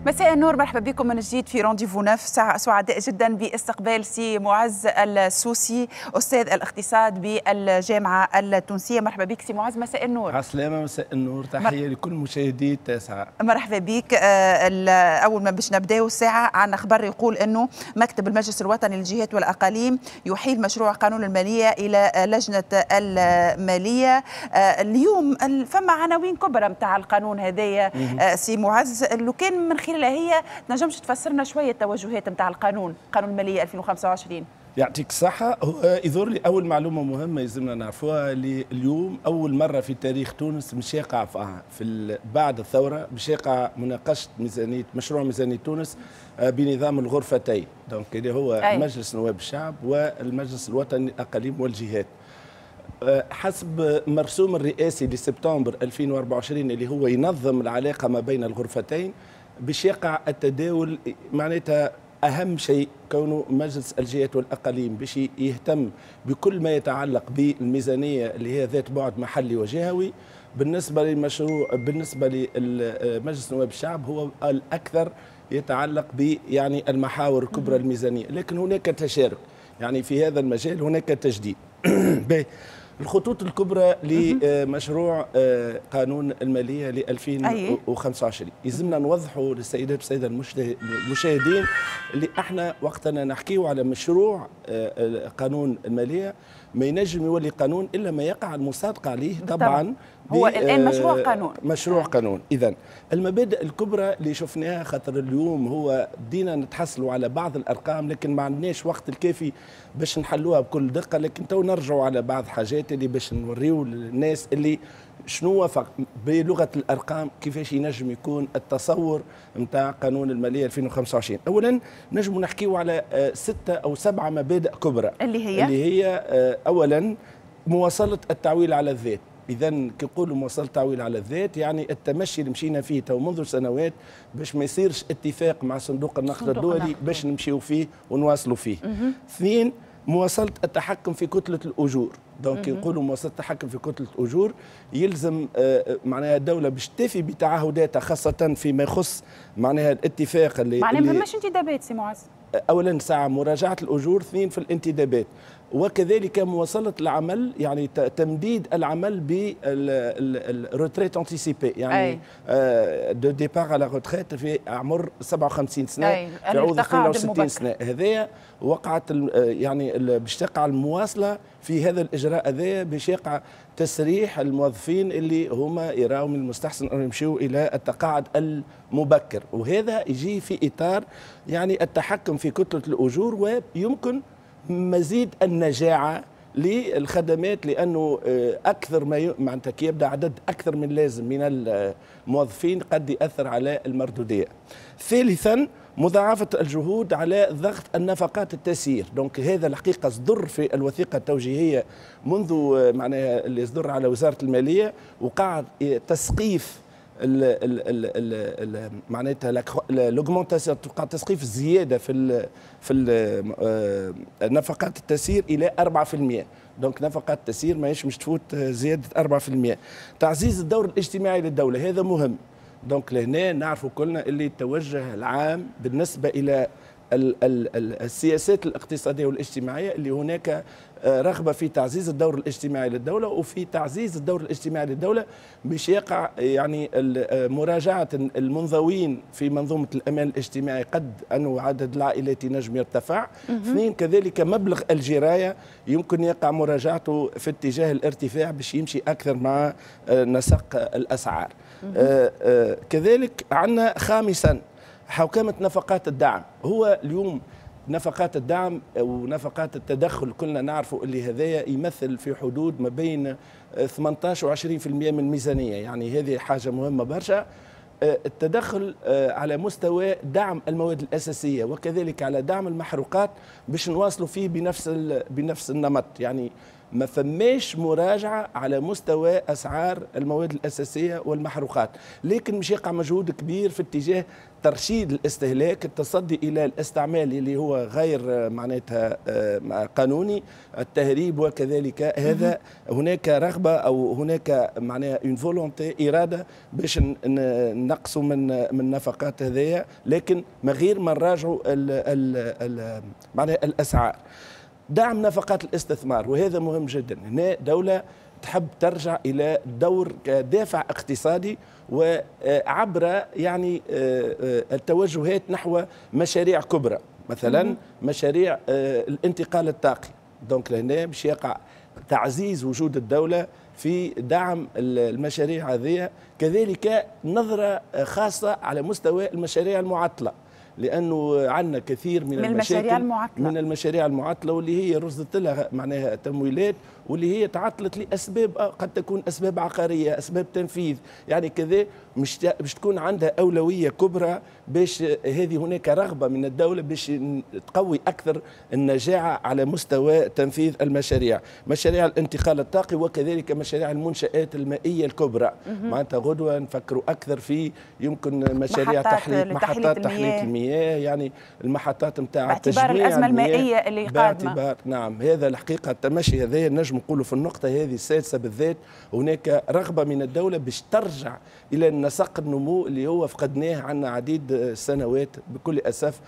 مساء النور، مرحبا بكم من جديد في rendez-vous neuf. سعداء جدا باستقبال سي معز السوسي، استاذ الاقتصاد بالجامعة التونسيه. مرحبا بك سي معز، مساء النور. عسلامة، مساء النور، تحية لكل مشاهدي التاسعة. مرحبا بك. اول ما باش نبداو الساعه، عندنا خبر يقول انه مكتب المجلس الوطني للجهات والاقاليم يحيل مشروع قانون المالية الى لجنة الماليه. اليوم فما عناوين كبرى نتاع القانون هذايا. سي معز، لو كان من خلالها هي تنجمش تفسرنا شوية التوجهات نتاع القانون، قانون المالية 2025؟ يعطيك الصحة. هو يظهر لي أول معلومة مهمة يلزمنا نعرفوها، اللي اليوم أول مرة في تاريخ تونس مش يقع في بعد الثورة باش يقع مناقشة ميزانية، مشروع ميزانية تونس بنظام الغرفتين، donc اللي هو مجلس نواب الشعب والمجلس الوطني للأقاليم والجهات. حسب مرسوم الرئاسي لسبتمبر 2024 اللي هو ينظم العلاقة ما بين الغرفتين، باش يقع التداول، معناتها اهم شيء كونه مجلس الجهات والاقاليم باش يهتم بكل ما يتعلق بالميزانيه اللي هي ذات بعد محلي وجهوي. بالنسبة للمشروع، بالنسبة لمجلس نواب الشعب، هو الاكثر يتعلق ب يعني المحاور الكبرى الميزانيه، لكن هناك تشارك، يعني في هذا المجال هناك تجديد. الخطوط الكبرى لمشروع قانون المالية ل 2025، يلزمنا نوضحوا للسيدات والسادة المشاهدين اللي احنا وقتنا نحكيو على مشروع قانون المالية، ما ينجم يولي قانون الا ما يقع المصادقة عليه طبعا. هو الان مشروع قانون. مشروع قانون. اذا المبادئ الكبرى اللي شفناها، خاطر اليوم هو بدينا نتحصلوا على بعض الارقام لكن ما عندناش وقت الكافي باش نحلوها بكل دقه، لكن تو نرجعوا على بعض حاجات اللي باش نوريو للناس اللي شنو بلغه الارقام كيفاش ينجم يكون التصور نتاع قانون المالية 2025. اولا نجم نحكيو على 6 او 7 مبادئ كبرى. اللي هي؟ اللي هي اولا مواصلة التعويل على الذات. اذا كي نقولوا مواصلة التعويل على الذات، يعني التمشي اللي مشينا فيه تو منذ سنوات باش ما يصيرش اتفاق مع صندوق النقد الدولي، باش نمشيو فيه ونواصلوا فيه. اثنين، مواصلة التحكم في كتلة الاجور. donc نقولوا مواصلة التحكم في كتلة الاجور، يلزم معناها الدولة باش تفي بتعهداتها، خاصة فيما يخص معناها الاتفاق اللي معناها ما فماش انتدابات سي معز؟ اولا ساعة مراجعه الاجور، اثنين في الانتدابات، وكذلك مواصلة العمل، يعني تمديد العمل بال retraite anticipée، يعني de départ à la retraite في عمر 57 سنة في عوض 62 سنه. هذايا وقعت، يعني باش تقع المواصلة في هذا الاجراء هذايا، باش يقع تسريح الموظفين اللي هما يراوا من المستحسن ان يمشيوا الى التقاعد المبكر، وهذا يجي في اطار يعني التحكم في كتلة الاجور ويمكن مزيد النجاعه للخدمات، لانه اكثر ما معناتها كي يبدا عدد اكثر من لازم من الموظفين قد ياثر على المردوديه. ثالثا، مضاعفة الجهود على ضغط النفقات التسيير. donc هذا الحقيقة صدر في الوثيقة التوجيهية منذ معناها اللي صدر على وزارة المالية، وقع تسقيف ال ال ال معناتها l'augmentation، تقع تسقيف الزيادة في ال نفقات التسيير الى 4%. donc نفقات التسيير ماهيش مش تفوت زيادة 4%. تعزيز الدور الاجتماعي للدوله، هذا مهم. donc لهنا نعرفوا كلنا اللي التوجه العام بالنسبة الى ال ال السياسات الاقتصادية والاجتماعيه، اللي هناك رغبة في تعزيز الدور الاجتماعي للدوله، وفي تعزيز الدور الاجتماعي للدولة باش يقع يعني مراجعه المنضوين في منظومة الامان الاجتماعي، قد انه عدد العائلات ينجم يرتفع. اثنين، كذلك مبلغ الجرايه يمكن يقع مراجعته في اتجاه الارتفاع باش يمشي اكثر مع نسق الاسعار. كذلك عندنا خامسا حوكمة نفقات الدعم. هو اليوم نفقات الدعم ونفقات التدخل كلنا نعرفوا اللي هذايا يمثل في حدود ما بين 18 و 20% من الميزانية، يعني هذه حاجة مهمة برشا. التدخل على مستوى دعم المواد الأساسية وكذلك على دعم المحروقات باش نواصلوا فيه بنفس النمط، يعني ما فماش مراجعة على مستوى أسعار المواد الأساسية والمحروقات، لكن مش يقع مجهود كبير في اتجاه ترشيد الاستهلاك، التصدي إلى الاستعمال اللي هو غير معناتها قانوني، التهريب وكذلك هذا. هناك رغبة أو هناك معناها une volonté، إرادة باش نقصوا من النفقات هذيا، لكن من غير ما نراجعوا معناها الأسعار. دعم نفقات الاستثمار، وهذا مهم جدا. هنا دولة تحب ترجع إلى دور كدافع اقتصادي وعبر يعني التوجهات نحو مشاريع كبرى، مثلا مشاريع الانتقال الطاقي. donc لهنا باش يقع تعزيز وجود الدولة في دعم المشاريع هذه، كذلك نظرة خاصة على مستوى المشاريع المعطلة، لانه عندنا كثير من المشاريع المعطلة، من المشاريع المعطلة واللي هي رصدت لها معناها تمويلات واللي هي تعطلت لاسباب قد تكون اسباب عقاريه، اسباب تنفيذ، يعني كذا مش باش تكون عندها اولوية كبرى. باش هذه هناك رغبة من الدولة باش تقوي اكثر النجاعه على مستوى تنفيذ المشاريع، مشاريع الانتقال الطاقي وكذلك مشاريع المنشآت المائية الكبرى. معناتها غدوه نفكروا اكثر في يمكن مشاريع تحلية، محطات تحلية المياه، يعني المحطات نتاع باعتبار الازمة المائية اللي قادمة. نعم، هذا الحقيقة التمشي هذا نجم نقولوا في النقطة هذه السادسة بالذات هناك رغبة من الدولة باش ترجع الى نسق النمو اللي هو فقدناه عنا عديد السنوات بكل اسف،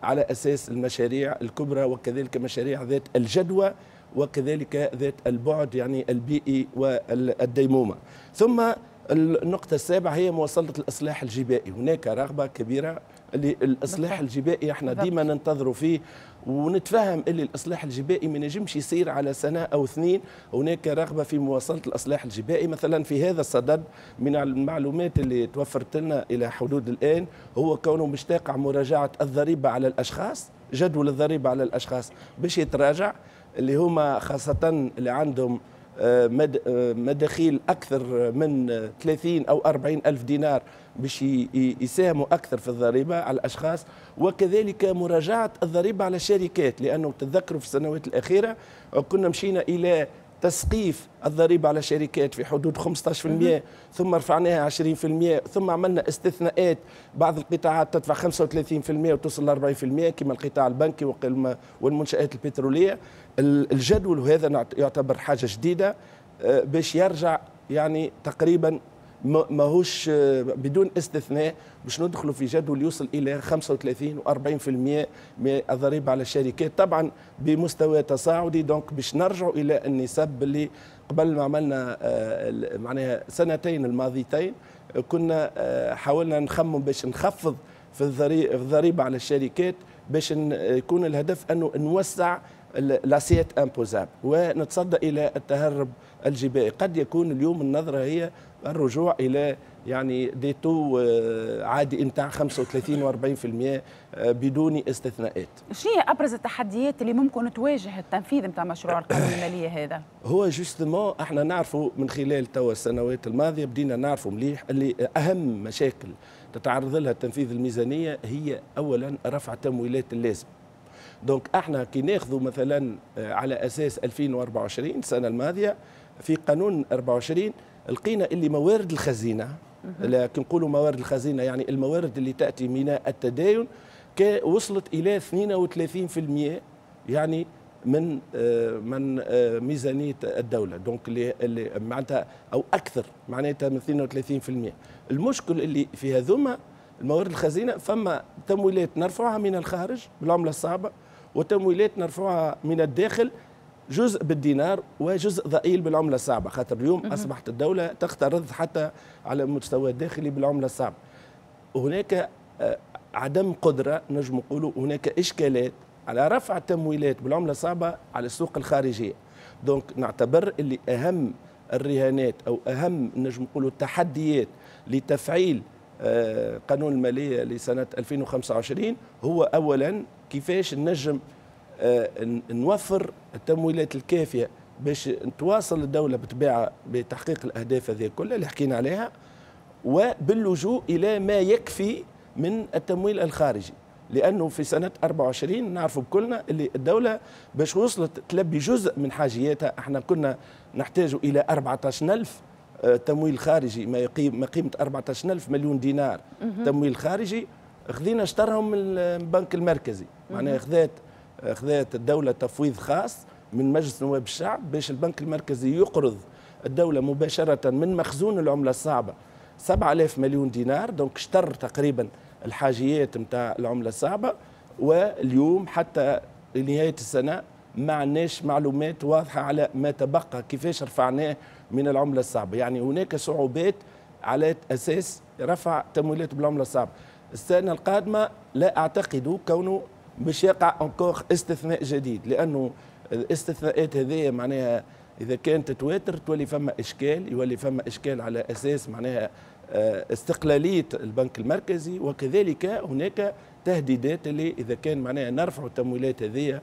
على اساس المشاريع الكبرى وكذلك مشاريع ذات الجدوى وكذلك ذات البعد يعني البيئي والديمومه. ثم النقطة السابعة هي مواصلة الإصلاح الجبائي. هناك رغبة كبيرة للإصلاح الجبائي، احنا ديما ننتظروا فيه ونتفهم اللي الإصلاح الجبائي ما نجمش يصير على سنة أو اثنين. هناك رغبة في مواصلة الإصلاح الجبائي. مثلا في هذا الصدد من المعلومات اللي توفرت لنا إلى حدود الآن هو كونه مش تقع مراجعة الضريبة على الأشخاص، جدول الضريبة على الأشخاص باش يتراجع، اللي هما خاصة اللي عندهم مداخيل أكثر من 30 أو 40 ألف دينار باش يساهموا أكثر في الضريبة على الأشخاص، وكذلك مراجعة الضريبة على الشركات، لأنه تتذكروا في السنوات الأخيرة كنا مشينا إلى تسقيف الضريبة على الشركات في حدود 15%، ثم رفعناها 20%، ثم عملنا استثناءات، بعض القطاعات تدفع 35% وتصل ل 40% كما القطاع البنكي والمنشآت البترولية. الجدول وهذا يعتبر حاجة جديدة باش يرجع يعني تقريبا ماهوش بدون استثناء باش ندخلوا في جدول يوصل الى 35 و40% من الضريبة على الشركات، طبعا بمستوى تصاعدي. donc باش نرجعوا الى النسب اللي قبل ما عملنا معناها سنتين الماضيتين كنا حاولنا نخمم باش نخفض في الضريبة على الشركات باش يكون الهدف انه نوسع l'assiette imposable ونتصدى الى التهرب الجبائي. قد يكون اليوم النظرة هي الرجوع الى يعني des taux عادي نتاع 35 و40% بدون استثناءات. شنو هي ابرز التحديات اللي ممكن تواجه التنفيذ نتاع مشروع القانون المالية هذا؟ هو justement احنا نعرفوا من خلال توا السنوات الماضية بدينا نعرفوا مليح اللي اهم مشاكل تتعرض لها تنفيذ الميزانية هي اولا رفع تمويلات اللازم. donc احنا كي ناخذوا مثلا على اساس 2024 السنة الماضية في قانون 24 لقينا اللي موارد الخزينة، لكن نقولوا موارد الخزينة يعني الموارد اللي تاتي من التداين، وصلت الى 32% يعني من ميزانية الدولة، donc اللي معناتها او اكثر معناتها من 32%. المشكل اللي في هذوما الموارد الخزينة فما تمويلات نرفعها من الخارج بالعملة الصعبة وتمويلات نرفعها من الداخل، جزء بالدينار وجزء ضئيل بالعملة الصعبة، خاطر اليوم اصبحت الدولة تقترض حتى على المستوى الداخلي بالعملة الصعبة. هناك عدم قدره، نجم نقولوا هناك اشكالات على رفع التمويلات بالعملة الصعبة على السوق الخارجية. donc نعتبر اللي اهم الرهانات او اهم نجم نقولوا التحديات لتفعيل قانون المالية لسنه 2025 هو اولا كيفاش نجم نوفر التمويلات الكافيه باش تواصل الدولة بطبيعة بتحقيق الاهداف هذه كلها اللي حكينا عليها، وباللجوء الى ما يكفي من التمويل الخارجي. لانه في سنة 24 نعرفوا بكلنا اللي الدولة باش وصلت تلبي جزء من حاجياتها، احنا كنا نحتاج الى 14000 تمويل خارجي ما قيمة 14000 مليون دينار تمويل خارجي، خذينا شطرهم من البنك المركزي. معناها خذات الدولة تفويض خاص من مجلس نواب الشعب باش البنك المركزي يقرض الدولة مباشرة من مخزون العملة الصعبة 7000 مليون دينار، donc شطر تقريبا الحاجيات نتاع العملة الصعبة. واليوم حتى لنهاية السنة ما عندناش معلومات واضحة على ما تبقى كيفاش رفعناه من العملة الصعبة. يعني هناك صعوبات على أساس رفع تمويلات بالعملة الصعبة. السنة القادمة لا أعتقد كونه باش يقع encore استثناء جديد، لأنه الاستثناءات هذه معناها إذا كانت تتواتر تولي فما إشكال، يولي فما إشكال على أساس معناها استقلالية البنك المركزي، وكذلك هناك تهديدات اللي إذا كان معناها نرفع التمويلات هذه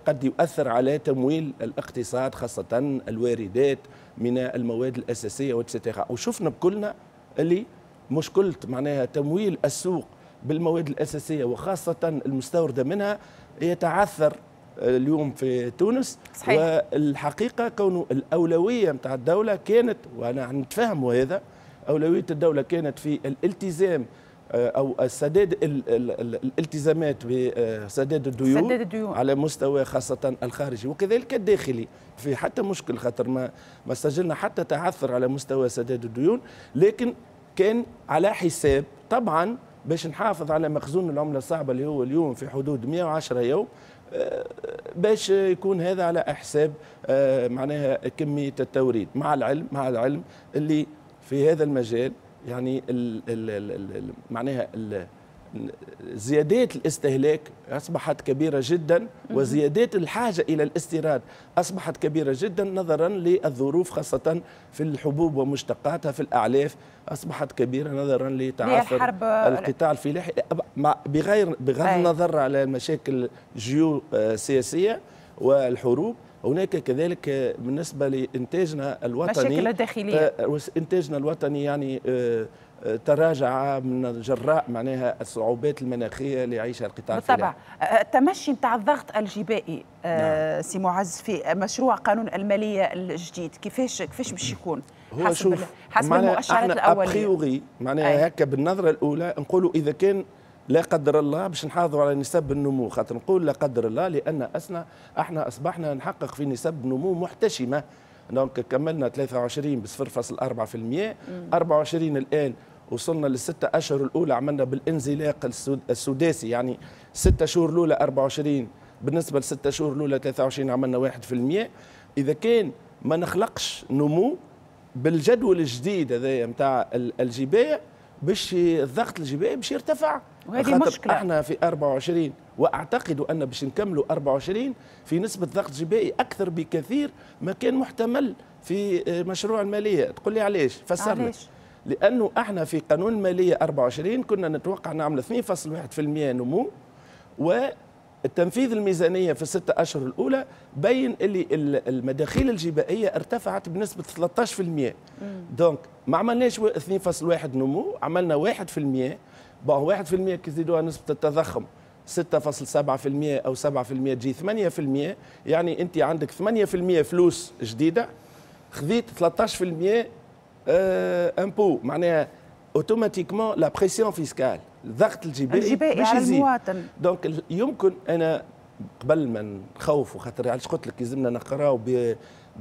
قد يؤثر على تمويل الاقتصاد، خاصة الواردات من المواد الأساسية et cetera. وشفنا بكلنا اللي مشكلة معناها تمويل السوق بالمواد الأساسية وخاصة المستوردة منها يتعثر اليوم في تونس. صحيح. والحقيقة كونه الأولوية متاع الدولة كانت، وأنا نتفهم هذا، أولوية الدولة كانت في الالتزام أو السداد الالتزامات بسداد الديون على مستوى خاصة الخارجي وكذلك الداخلي، في حتى مشكل خاطر ما سجلنا حتى تعثر على مستوى سداد الديون، لكن كان على حساب طبعا باش نحافظ على مخزون العملة الصعبة اللي هو اليوم في حدود 110 يوم، باش يكون هذا على حساب معناها كمية التوريد، مع العلم اللي في هذا المجال يعني ال ال ال معناها زيادات الاستهلاك أصبحت كبيرة جدا، وزيادات الحاجة إلى الاستيراد أصبحت كبيرة جدا نظرا للظروف خاصة في الحبوب ومشتقاتها، في الأعلاف أصبحت كبيرة نظرا لتعثر القطاع الفلاحي، بغض النظر على المشاكل الجيوسياسية والحروب. هناك كذلك بالنسبة لإنتاجنا الوطني، مشاكل الداخلية، إنتاجنا الوطني يعني تراجع من جراء معناها الصعوبات المناخية اللي يعيشها القطاع الفلاحي. بالطبع التمشي نتاع الضغط الجبائي. نعم. سي معز، في مشروع قانون المالية الجديد كيفاش باش يكون؟ هو حسب المؤشرات الأولية a priori معناها هكا بالنظرة الأولى نقولوا إذا كان لا قدر الله باش نحافظوا على نسب النمو، خاطر نقول لا قدر الله لأن احنا أصبحنا نحقق في نسب نمو محتشمة. donc كملنا 23 ب 0.4%، 24 الآن وصلنا للستة أشهر الأولى عملنا بالانزلاق السداسي، يعني 6 شهور الأولى 24 بالنسبة ل6 شهور الأولى 23 عملنا 1%. إذا كان ما نخلقش نمو بالجدول الجديد هذايا نتاع الجباية باش الضغط الجبائي باش يرتفع، وهذه مشكلة. احنا في 24 واعتقد ان باش نكملوا 24 في نسبة ضغط جبائي اكثر بكثير ما كان محتمل في مشروع المالية. تقول لي علاش؟ فسر لك. لانه احنا في قانون المالية 24 كنا نتوقع نعمل 2.1% نمو، والتنفيذ الميزانية في ال6 أشهر الأولى بين اللي المداخيل الجبائية ارتفعت بنسبة 13%. donc ما عملناش 2.1 نمو، عملنا 1%. bon 1% كي زيدوها نسبة التضخم 6.7% أو 7% تجي 8%، يعني أنت عندك 8% فلوس جديدة، خذيت 13% impôt، معناها automatiquement la pression fiscale، الضغط الجبائي على المواطن. donc يمكن انا قبل ما نخوفوا، خاطر علاش قلت لك لازمنا نقراو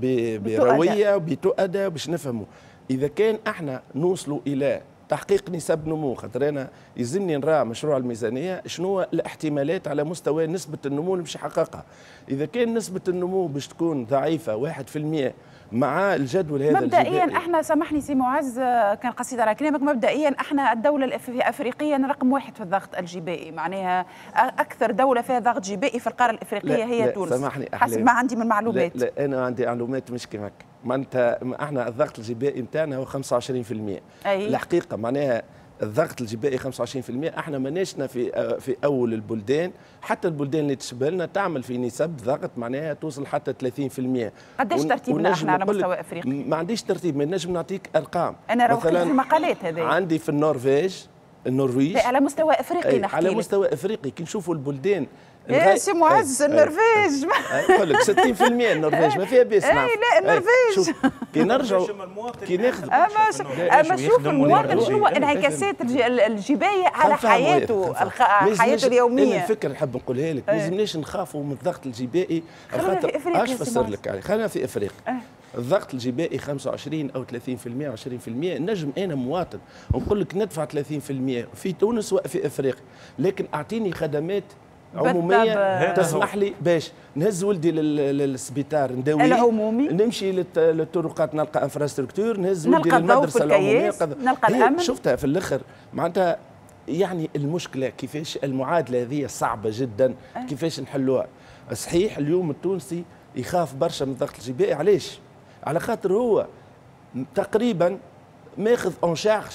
برويه وبتؤدى باش نفهموا. اذا كان احنا نوصلوا الى تحقيق نسب نمو، خاطر انا يلزمني نرى مشروع الميزانية شنو الاحتمالات على مستوى نسبه النمو اللي باش يحققها. اذا كان نسبه النمو باش تكون ضعيفة 1% مع الجدول هذا مبدئيا احنا، سامحني سي معز كان قصيد على كلامك، مبدئيا احنا الدولة الافريقية رقم 1 في الضغط الجبائي، معناها اكثر دولة فيها ضغط جبائي في القارة الافريقية هي تونس. سامحني حسب ما عندي من معلومات. لا انا عندي معلومات مش كيما هكا. معناتها احنا الضغط الجبائي نتاعنا هو 25%. أي. الحقيقة معناها الضغط الجبائي 25%، احنا ماناشنا في اول البلدان، حتى البلدان اللي تشبه لنا تعمل في نسب ضغط معناها توصل حتى 30%. قداش ترتيبنا احنا على مستوى افريقيا؟ ما عنديش ترتيب، ما نجم نعطيك ارقام. انا راه في المقالات هذه. عندي في النرويج النرويج على مستوى افريقي، نحكي على مستوى افريقي كي نشوفوا البلدان. يا سي معز النرويج نقول لك 60% النرويج ما فيها باس. اي لا النرويج كي نرجعوا كي ناخذ اما شوف المواطن شنو انعكاسات الجبايه على حياته حياته اليومية. الفكرة نحب نقولها لك، ما لازمناش نخافوا من الضغط الجبائي. خاطر اش فسر لك عليه، خلينا في افريقيا الضغط الجبائي 25 او 30% 20%. نجم انا مواطن نقول لك ندفع 30% في تونس وفي افريقيا، لكن اعطيني خدمات عموميه تسمح لي باش نهز ولدي للسبيطار نداويه العمومي، نمشي للطرقات نلقى infrastructure، نهز ولدي للمدرسة العمومية، نلقى الامن. شفتها في الاخر معناتها. يعني المشكلة كيفاش المعادلة هذه صعبة جدا، كيفاش نحلوها. صحيح اليوم التونسي يخاف برشا من الضغط الجبائي. علاش؟ على خاطر هو تقريبا ماخذ en charge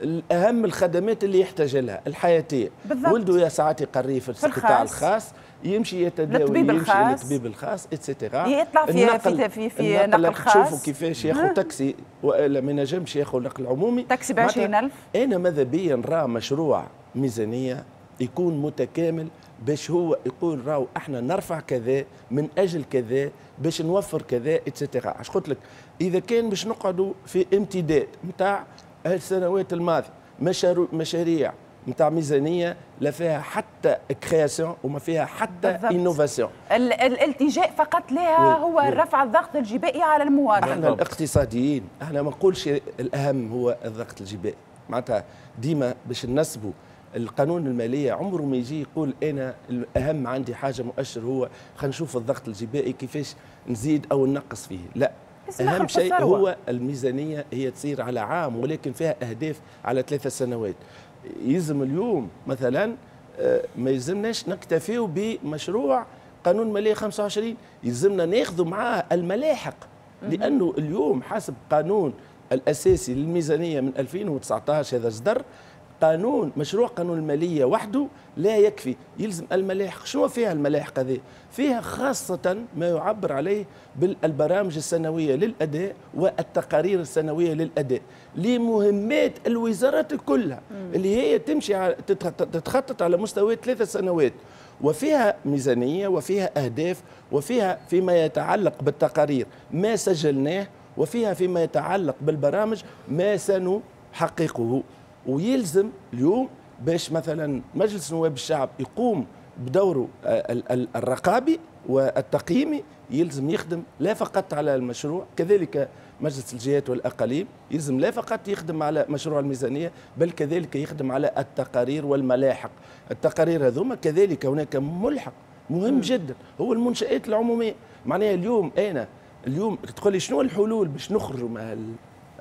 الاهم الخدمات اللي يحتاج لها الحياتية. ولده يا ساعات يقريه في القطاع الخاص، يمشي يتداوي، يمشي للطبيب الخاص et cetera، يطلع في في في نقل خاص. تشوفوا كيفاش ياخذ تاكسي والا ما ينجمش ياخذ نقل عمومي، تاكسي ب 20000. انا ماذا بيا نرى مشروع ميزانية يكون متكامل باش هو يقول راهو احنا نرفع كذا من اجل كذا باش نوفر كذا et cetera. علاش قلت لك اذا كان باش نقعدوا في امتداد نتاع السنوات الماضية مشاريع نتاع ميزانية لا فيها حتى création وما فيها حتى innovation، الالتجاء فقط لها هو رفع الضغط الجبائي على المواطن. احنا الاقتصاديين احنا ما نقولش الاهم هو الضغط الجبائي، معناتها ديما باش ننسبوا القانون المالية عمره ما يجي يقول انا الاهم عندي حاجة مؤشر هو خلينا نشوف الضغط الجبائي كيفاش نزيد او ننقص فيه. لا، اهم شيء هو الميزانية هي تصير على عام ولكن فيها اهداف على 3 سنوات. يلزم اليوم مثلا ما يلزمناش نكتفيو بمشروع قانون ماليه 25، يلزمنا ناخذوا معاه الملاحق، لانه اليوم حسب قانون الاساسي للميزانيه من 2019 هذا صدر قانون مشروع قانون المالية وحده لا يكفي، يلزم الملاحق. شنو فيها الملاحق هذه؟ فيها خاصة ما يعبر عليه بالبرامج السنوية للأداء والتقارير السنوية للأداء لمهمات الوزارات كلها اللي هي تمشي تتخطط على مستوى 3 سنوات، وفيها ميزانية وفيها أهداف وفيها فيما يتعلق بالتقارير ما سجلناه، وفيها فيما يتعلق بالبرامج ما سنحققه. ويلزم اليوم باش مثلا مجلس نواب الشعب يقوم بدوره الرقابي والتقييمي، يلزم يخدم لا فقط على المشروع، كذلك مجلس الجهات والأقاليم يلزم لا فقط يخدم على مشروع الميزانية بل كذلك يخدم على التقارير والملاحق. التقارير هذوما كذلك هناك ملحق مهم جدا هو المنشآت العمومية. معناها اليوم أنا اليوم تقول لي شنو الحلول باش نخرجوا مع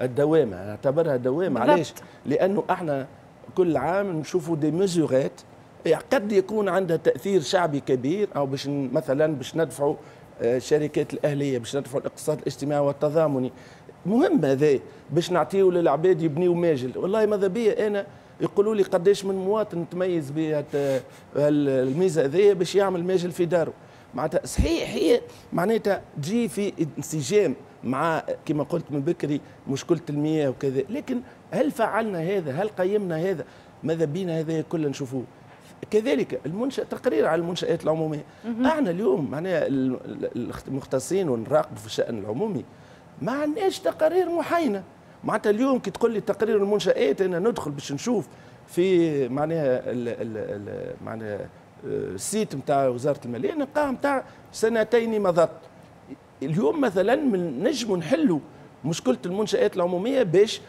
الدوامة؟ نعتبرها دوامه. علاش؟ لانه احنا كل عام نشوفوا des mesurettes قد يكون عندها تاثير شعبي كبير، او باش مثلا باش ندفعوا الشركات الاهلية، باش ندفعوا الاقتصاد الاجتماعي والتضامني. مهم هذا باش نعطيو للعباد يبنيو ماجل. والله ماذا بيا انا يقولوا لي قداش من مواطن تميز بهالميزه هذيا باش يعمل ماجل في داره. معناتها صحيح هي معناتها تجي في انسجام مع كما قلت من بكري مشكلة المياه وكذا، لكن هل فعلنا هذا؟ هل قيمنا هذا؟ ماذا بينا هذا كله نشوفوه. كذلك المنشأ، تقرير على المنشآت العمومية. احنا اليوم معناها المختصين ونراقبوا في الشأن العمومي ما عندناش تقارير محاينة. معناتها اليوم كي تقول لي تقرير المنشآت انا ندخل باش نشوف في معناها معناها ال site نتاع وزارة المالية نلقاه نتاع سنتين مضت. اليوم مثلا من نجموا نحلوا مشكلة المنشآت العمومية باش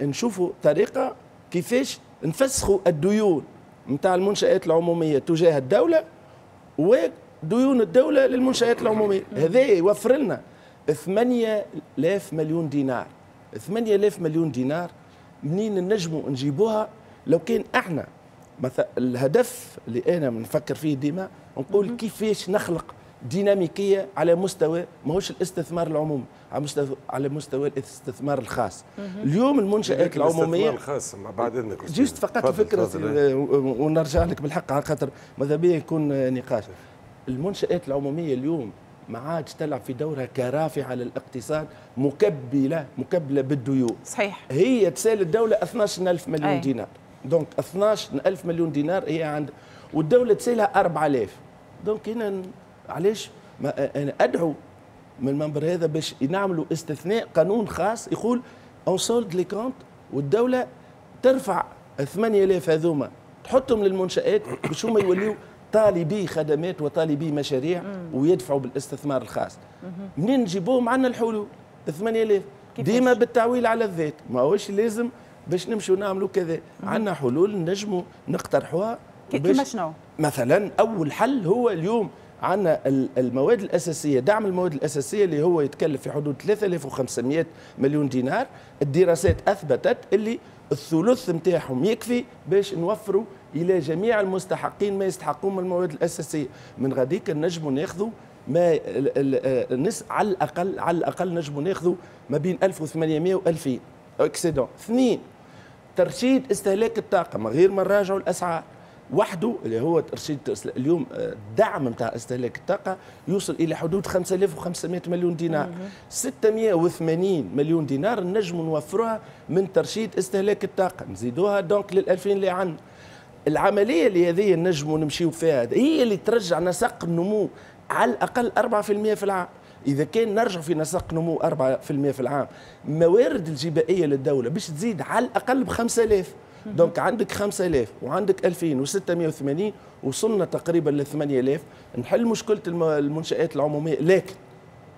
نشوفوا طريقه كيفاش نفسخوا الديون نتاع المنشآت العمومية تجاه الدولة وديون الدولة للمنشآت العمومية. هذا يوفر لنا 8000 مليون دينار. 8000 مليون دينار منين نجموا نجيبوها؟ لو كان احنا مثلا الهدف اللي انا نفكر فيه ديما نقول كيفاش نخلق ديناميكية على مستوى ماهوش الاستثمار العمومي، على مستوى الاستثمار الخاص. اليوم المنشآت العمومية الاستثمار الخاص بعد اذنك juste فقط فكرة ونرجع لك بالحق على خاطر ماذا بيا يكون نقاش. المنشآت العمومية اليوم ما عادش تلعب في دورها كرافعه للاقتصاد، مكبله بالديون. صحيح، هي تسال الدولة 12000 مليون دينار. donc 12000 مليون دينار هي عند، والدولة تسالها 4000. donc هنا علاش ما انا ادعو من المنبر هذا باش نعملوا استثناء، قانون خاص يقول on solde les comptes، والدولة ترفع 8000 هذوما تحطهم للمنشآت باش هما يوليو طالبي خدمات وطالبي مشاريع ويدفعوا بالاستثمار الخاص. منين نجيبوهم؟ عندنا الحلول 8000 ديما بالتعويل على الذات، ماهوش لازم باش نمشوا نعملوا كذا، عندنا حلول نجموا نقترحوها. كيما شنو؟ مثلا اول حل هو اليوم عندنا المواد الاساسية، دعم المواد الاساسية اللي هو يتكلف في حدود 3500 مليون دينار. الدراسات اثبتت اللي الثلث نتاعهم يكفي باش نوفروا الى جميع المستحقين ما يستحقون من المواد الاساسية. من غاديك نجموا ناخذوا ما الناس على الاقل، على الاقل نجموا ناخذوا ما بين 1800 و 2000 excédent. اثنين، ترشيد استهلاك الطاقة من غير ما نراجعوا الاسعار وحده، اللي هو ترشيد اليوم الدعم نتاع استهلاك الطاقة يوصل الى حدود 5500 مليون دينار. 680 مليون دينار نجموا نوفروها من ترشيد استهلاك الطاقة، نزيدوها donc لل 2000 اللي عندنا. العملية اللي هذه نجموا نمشيو فيها هي اللي ترجع نسق النمو على الاقل 4% في العام. اذا كان نرجع في نسق نمو 4% في العام، موارد الجبائيه للدولة باش تزيد على الاقل ب 5000. donc عندك 5000 وعندك 2680، وصلنا تقريبا ل 8000. نحل مشكلة المنشات العمومية، لكن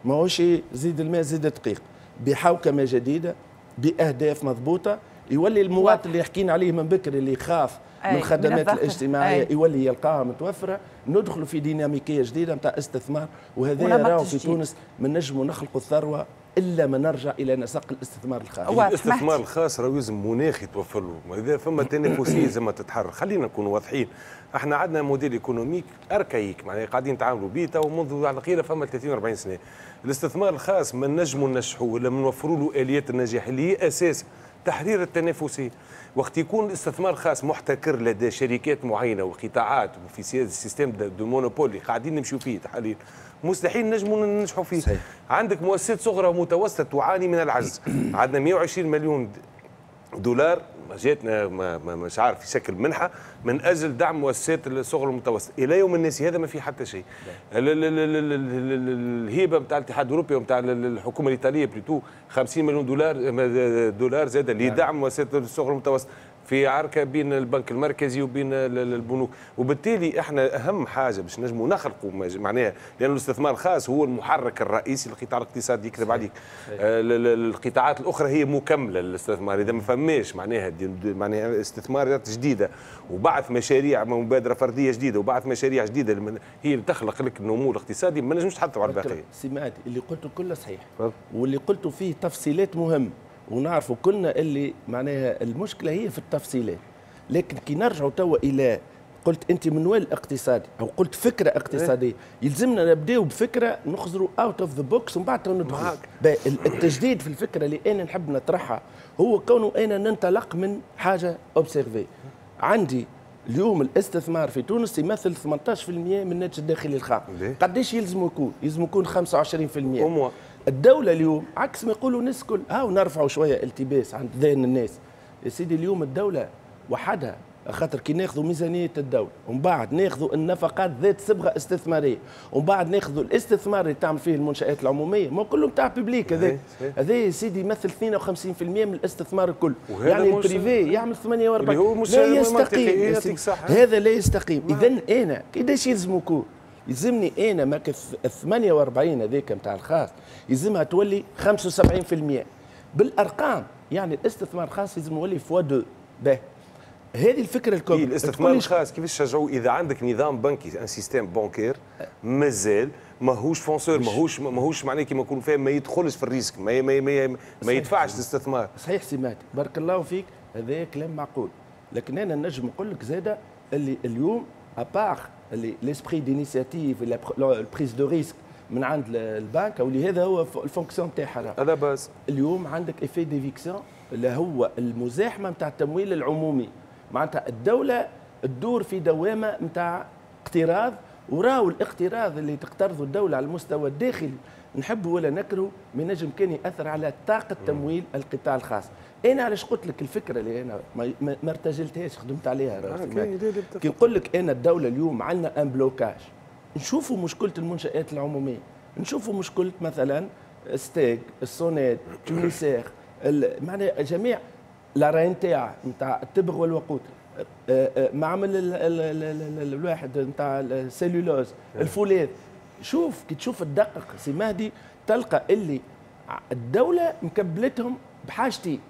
ماهوش زيد الماء زيد الدقيق، بحوكمه جديدة باهداف مضبوطة، يولي المواطن اللي حكينا عليه من بكري اللي يخاف من الخدمات الاجتماعية يولي يلقاها متوفرة. ندخلوا في ديناميكية جديدة نتاع استثمار، وهذا راهو في تونس ما نجموا نخلقوا الثروة الا ما نرجع الى نسق الاستثمار الخاص. الاستثمار الخاص راهو لازم مناخ يتوفر له، اذا فما تنافسية لازم تتحرر. خلينا نكونوا واضحين، احنا عندنا modèle économique archaïque، معناها قاعدين نتعاملوا به تو منذ على القيله فما 30 40 سنة. الاستثمار الخاص ما نجموا ننجحوه ولا نوفروا له اليات النجاح اللي هي اساس تحرير التنافسية. وقت يكون الاستثمار الخاص محتكر لدى شركات معينة وقطاعات وفي système de monopole اللي قاعدين نمشيو فيه حاليا، مستحيل نجموا ننجحوا فيه. صحيح. عندك مؤسسات صغرى ومتوسطه تعاني من العجز، عندنا 120 مليون دولار جاتنا مش عارف في شكل منحه من اجل دعم مؤسسات الصغرى والمتوسطة، الى يوم الناس هذا ما في حتى شيء. الهبة نتاع الاتحاد الاوروبي ونتاع الحكومة الايطالية plutôt 50 مليون دولار زاد لدعم مؤسسات الصغرى والمتوسطة، في عركة بين البنك المركزي وبين البنوك. وبالتالي احنا اهم حاجة باش نجموا نخلقوا معناها، لان الاستثمار الخاص هو المحرك الرئيسي للقطاع الاقتصادي، يكذب عليك. القطاعات الاخرى هي مكملة للاستثمار. اذا ما فماش معناها استثمارات جديدة وبعث مشاريع، مبادرة فردية جديدة وبعث مشاريع جديدة هي اللي تخلق لك النمو الاقتصادي، ما نجمش تحطوا على الباقية. سمعت اللي قلته كله صحيح، واللي قلته فيه تفصيلات مهمة، ونعرفوا كلنا اللي معناها المشكلة هي في التفصيلات. لكن كي نرجعوا توا الى قلت انت منوال اقتصادي او قلت فكرة اقتصادية، يلزمنا نبداو بفكره نخزروا out of the box ومن بعد ندخل. التجديد في الفكرة اللي انا نحب نطرحها هو كونه انا ننطلق من حاجة observée. عندي اليوم الاستثمار في تونس يمثل 18% من الناتج الداخلي الخام. قداش يلزم يكون؟ يلزم يكون 25%. الدولة اليوم عكس ما يقولوا الناس الكل، هاو نرفعوا شوية التباس عند ذهن الناس. يا سيدي اليوم الدولة وحدها، خاطر كي ناخذوا ميزانية الدولة ومن بعد ناخذوا النفقات ذات صبغة استثمارية ومن بعد ناخذوا الاستثمار اللي تعمل فيه المنشآت العمومية، ما كله نتاع public هذا، هذا يا سيدي يمثل 52% من الاستثمار الكل. يعني ال privé يعمل 48. لا يستقيم هذا، لا يستقيم. اذا انا قداش يلزم يكون؟ يلزمني انا ماك 48 هذيك نتاع الخاص يلزمها تولي 75% بالارقام. يعني الاستثمار الخاص لازم يولي fois deux. باهي، هذه الفكرة الكبرى. إيه الاستثمار الخاص كيفاش تشجعوه اذا عندك نظام بنكي، un système bancaire مازال ماهوش fonceur، ماهوش معناه كيما نقولوا فاهم، ما يدخلش في ال risque، ما يدفعش الاستثمار. صحيح سمعت، بارك الله فيك، هذا كلام معقول. لكن انا نجم نقول لك زاده اللي اليوم à part اللي l'esprit d'initiative، ال prise de risque من عند البنك، واللي هذا هو ال fonction تاعها هذا base. اليوم عندك effet d'éviction اللي هو المزاحمه نتاع التمويل العمومي، معناتها الدولة تدور في دوامه نتاع اقتراض، وراو الاقتراض اللي تقترضه الدولة على المستوى الداخلي نحب ولا نكره ما ينجم كان ياثر على طاقة تمويل القطاع الخاص. انا علاش قلت لك الفكرة اللي انا ما ارتجلتهاش، خدمت عليها. كي نقول لك انا الدولة اليوم عندنا un blocage، نشوفوا مشكلة المنشات العموميه، نشوفوا مشكلة مثلا ستاغ، الصوناد، Tunisair، معناها جميع la RNTA نتاع التبغ والوقود، معمل الواحد نتاع السيلولوز، الفولاذ. شوف كي تشوف تدقق سي مهدي تلقى اللي الدولة مكبلتهم بحاجتين.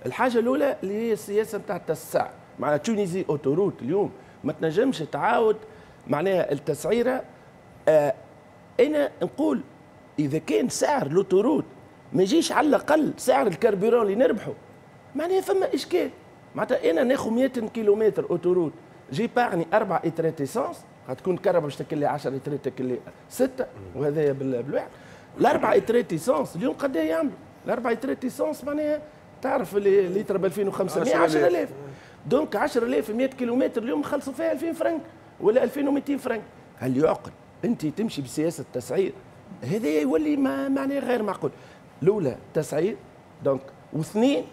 الحاجة الاولى اللي هي السياسة نتاع التسعير، معناها Tunisie Autoroutes اليوم ما تنجمش تعاود معناها التسعيره. انا نقول اذا كان سعر l'autoroute ما يجيش على الاقل سعر ال carburant اللي نربحه، معناها فما اشكال. معناتها انا ناخذ 100 كيلومتر autoroute، j'épargne 4 لترات essence، غتكون كرهبة باش تاكل لي 10 لترات تاكل لي 6، وهذايا بالواحد. الاربع لترات essence اليوم قد يعملوا؟ الاربع لترات essence معناها تعرف اللي لتر ب 2500، 10000، donc 10000 100 كيلومتر اليوم خلصوا فيها 2000 فرنك ولا 2200 فرنك. هل يعقل انت تمشي بسياسة التسعير؟ هذا يولي ما معناه غير معقول. الاولى تسعير donc، واثنين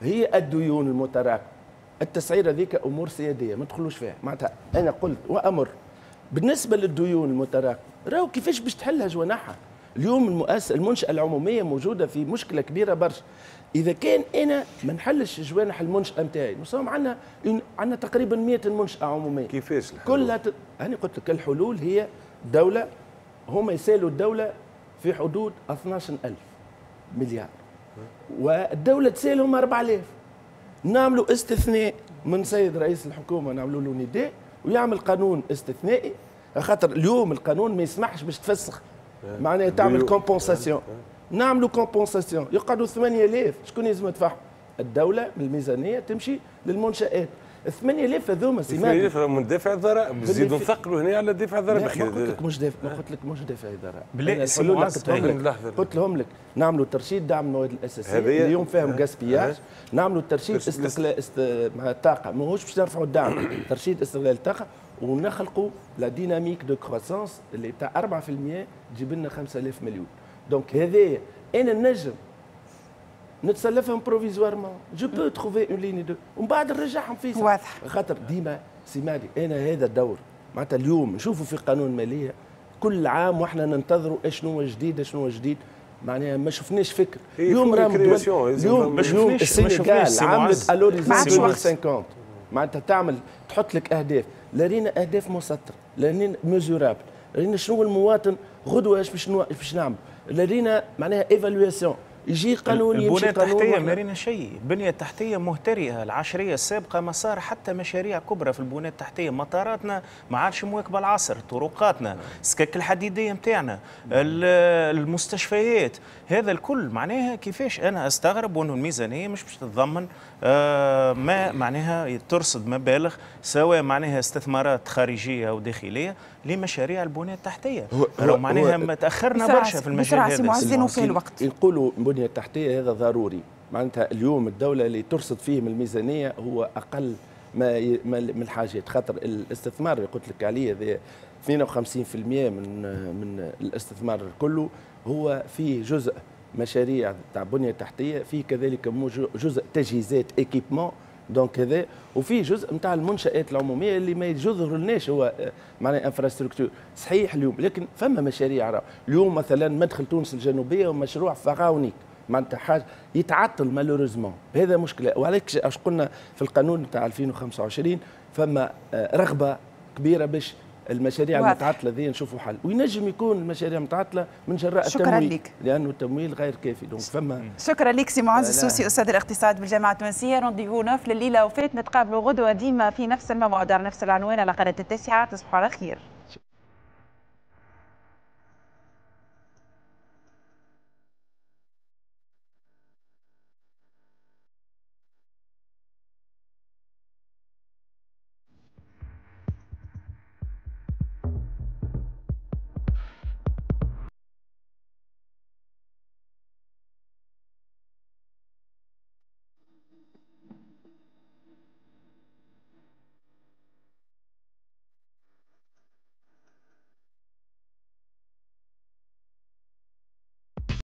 هي الديون المتراكمه. التسعير هذيك امور سيادية ما تدخلوش فيها. معناتها انا قلت وامر بالنسبة للديون المتراكمه، راهو كيفاش باش تحلها جوانحها؟ اليوم المؤسسة المنشاة العمومية موجودة في مشكلة كبيرة برشا. اذا كان انا ما نحلش جوانح المنشاة نتاعي، نصوم عندنا تقريبا 100 منشاه عموميه. كيفاش الحلول؟ كلها انا قلت لك الحلول هي دولة، هما يسالوا الدولة في حدود 12000 مليار والدولة تسالهم 4000. نعملوا استثناء من سيد رئيس الحكومه، نعملوا له نداء ويعمل قانون استثنائي، خاطر اليوم القانون ما يسمحش باش تفسخ، معناها تعمل compensation. نعملوا compensation يقعدوا 8000، شكون لازم يدفعهم؟ الدولة من الميزانية تمشي للمنشات. 8000 هذوما سي 8000 من دافع الضرائب، نزيدوا نثقلوا هنا على دافع الضرائب. ما قلت لك مش دافع، ما قلت لك مش دافع الضرائب. قلت لهم لك نعملوا ترشيد دعم المواد الاساسية اليوم فيهم gaspillage، نعملوا ترشيد استغلال الطاقه، ماهوش باش نرفعوا الدعم، ترشيد استغلال الطاقة ونخلقوا la dynamique de croissance اللي تاع 4% تجيب لنا 5000 مليون. donc هذايا انا نجم نتسلفهم provisoirement، je peux trouver une ligne de ومن بعد نرجعهم في واضح. خاطر ديما سي مهدي انا هذا الدور معناتها اليوم نشوفوا في قانون المالية كل عام واحنا ننتظروا اشنو جديد اشنو جديد، معناها ما شفناش فكر. اليوم راهم اليوم السنغال عملت à l'horizon 2050، معناتها تعمل تحط لك اهداف، لا رينا اهداف مسطرة، لا رينا mesurable، رينا شنو المواطن غدوه ايش باش نعمل، لا رينا معناها évaluation، يجي قانون يمشي قانون. البنية التحتية ما رينا شيء، البنية التحتية مهترئة، العشرية السابقة ما صار حتى مشاريع كبرى في البنية التحتية، مطاراتنا ما عادش مواكبة العصر، طرقاتنا، السكك الحديدية نتاعنا، المستشفيات، هذا الكل معناها كيفاش أنا أستغرب وأنه الميزانية مش باش تتضمن ما معناها ترصد مبالغ سواء معناها استثمارات خارجية أو داخلية لمشاريع البنية التحتية. لو معناها تأخرنا برشا في المجال هذا. في الوقت نقولوا البنية التحتية هذا ضروري، معناتها اليوم الدولة اللي ترصد فيه من الميزانية هو أقل ما من الحاجات، خاطر الاستثمار اللي قلت لك عليه هذا 52% من الاستثمار كله هو فيه جزء مشاريع تاع بنية تحتية، فيه كذلك جزء تجهيزات équipement donc هذا، وفيه جزء نتاع المنشآت العمومية اللي ما يظهر لناش هو معناها infrastructure صحيح اليوم، لكن فما مشاريع اليوم مثلا مدخل تونس الجنوبية ومشروع pharaonique معناتها حاجة يتعطل malheureusement، هذا مشكلة. وعلاش اش قلنا في القانون نتاع 2025 فما رغبة كبيرة باش المشاريع المتعطله ذي نشوفوا حل، وينجم يكون المشاريع المتعطله من جراء شكرا التمويل. لك. لانه التمويل غير كافي، donc فما. شكرا لك سي معز السوسي استاذ الاقتصاد بالجامعة التونسيه. rendez-vous neuf لليلة وفات، نتقابلوا غدوه ديما في نفس الموعد على نفس العنوان على قناة التاسعه. تصبحوا على خير.